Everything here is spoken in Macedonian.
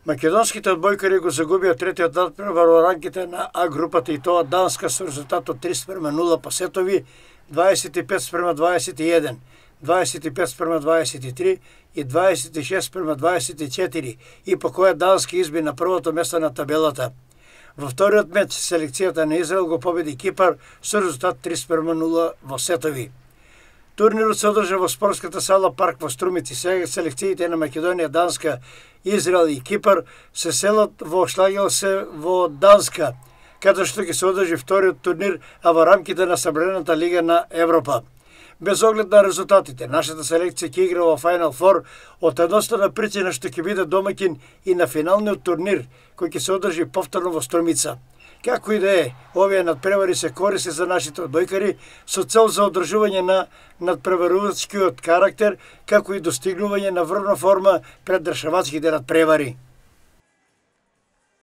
Македонските одбојкари го загубија третиот надпревар во рамките на А групата и тоа Данска со резултат од 3:0 по сетови, 25:21, 25:23 и 26:24 и по која Данска изби на првото место на табелата. Во вториот меч селекцијата на Израел го победи Кипар со резултат 3:0 во сетови. Турнирот се одржа во спортската сала Парк во Струмици. Сега селекциите на Македонија, Данска, Израел и Кипар се селат во Шлагелсе во Данска, каде што ќе се одржи вториот турнир, а во рамките на Собраната лига на Европа. Без оглед на резултатите, нашата селекција ќе игра во Final Four од едноставна причина што ќе биде домаќин и на финалниот турнир, кој ќе се одржи повторно во Струмица. Како и да е, овие надпревари се користи за нашите одбојкари со цел за одржување на надпреварувачкиот карактер, како и достигнување на врвна форма пред решавачките надпревари.